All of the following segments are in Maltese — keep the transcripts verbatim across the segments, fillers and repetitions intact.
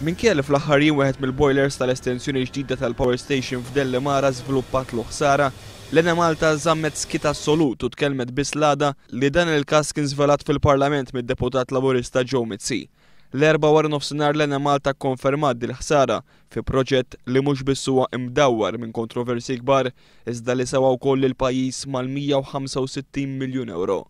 Minkejja li fl-aħħar jiem wieħed mill-boilers tal-estensjoni ġdida tal-power station f'Dellimara żviluppatlu ħsara, l-Enemalta żammet skiet assolut u tkellmet biss l-għada li dan il-każ kien żvelat fil-Parlament mid-deputat Laburista Joe Mizzi. L-Erbgħa wara nofsinhar l-Enemalta kkonfermat dil-ħsara fi proġett li mhux biss huwa imdawwar minn kontroversji kbar iżda li sewa wkoll lill-pajjiż mal-mija u ħamsa u sittin miljun ewro.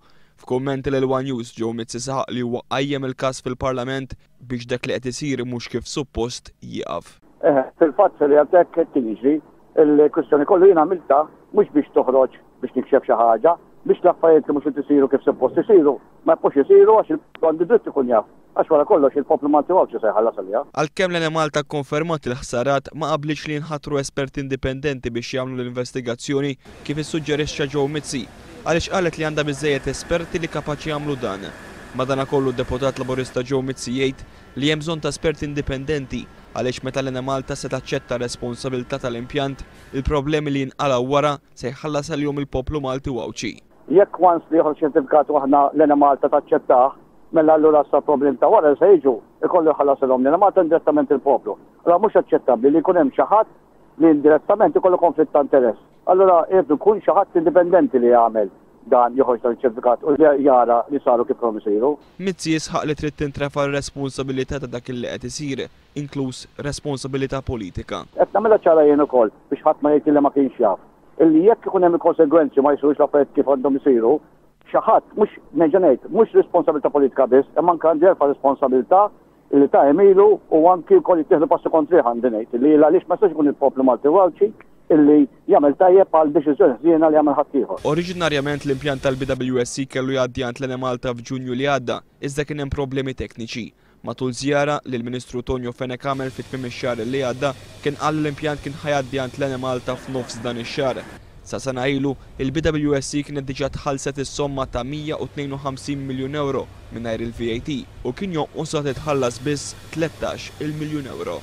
F'kummenti lil One News Joe Mizzi saħaq li huwa qajjem il-każ fil-Parlament biex dak li qed isir mhux kif suppost jieqaf. Eħe, fil-fatt fil-realtà hekk qed jiġri, il-kwistjoni kollu jien għamilta mhux biex toħroġ biex nikxef xi ħaġa, biex l-affarijiet li mhux qed isiru kif suppost isiru, ma jibqgħux isiru għax il-poplu għandu dritt ikun jaf. Għax wara kollox il-poplu Malti Għawdxi se jħallas għaliha. Għalkemm l-Enemalta kkonfermat il-ħsarat, ma qablitx li jinħatru esperti indipendenti biex jagħmlu l-investigazzjoni kif issuġġerixxa Joe Mizzi, għaliex qalet li għandha biżżejjed esperti li kapaċi jagħmlu dan. Madanakollu d-deputat Laburista Joe Mizzi jgħid li hemm bżonn ta' esperti indipendenti għaliex meta l-Enemalta se taċċetta r-responsabilità tal-impjant, il-problemi li jinqalgħu wara se jħallas għalihom il-poplu Malti u Għawdxi. Jekk once li joħroġ ċertifikat u aħna l-Enemalta taċċettah, mela allura sa problem ta' wara se jiġu ikollu jħallasilhom l-Enemalta indirettament il-poplu. Allura mhux aċċettabbli li jkun hemm xi ħadd li indirettament ikollu konflitt ta' interess. Allura jrid ikun xi ħadd indipendenti li jagħmel dan, joħroġ dan iċ-ċertifikat u li jara li saru kif kellhom isiru. Mizzi jisħaq li trid tintrefa' r-responsabilità ta' dak li qed isir, inkluż responsabilità politika. Qed nagħmilha ċara jien ukoll biex ħadd ma jgħid li ma kienx jaf. Illi jekk ikun hemm il-konsegwenzi ma jsirux l-affarijiet kif għandhom isiru, xi ħadd mhux nerġa' ngħid, mhux responsabilità politika biss, imma anke għandi jerfa' responsabilità li ta' emilu u anki wkoll jittieħdu passi kontrih għandi ngħid li għaliex ma jistax ikun il-poplu Malti u Għawdxi illi jagħmel tajjeb għal deċiżjoni ħżiena li jagħmel ħaddieħor. Oriġinarjament l-impjant tal-B W S C kellu jgħaddi għand l-Enemalta f'Ġunju li għadda, iżda kien hemm problemi tekniċi. Matul żjara li l-Ministru Tonio Fenech għamel fi tmiem ix-xahar li għadda, kien qal li l-impjant kien ħajgħaddi għand l-Enemalta f'nofs dan ix-xahar. Sa sena ilu, il-B W S C kienet diġà tħallset is-somma ta' mija u tnejn u ħamsin miljun euro mingħajr il-V A T u kien jonqosha titħallas biss tlettax il miljun euro.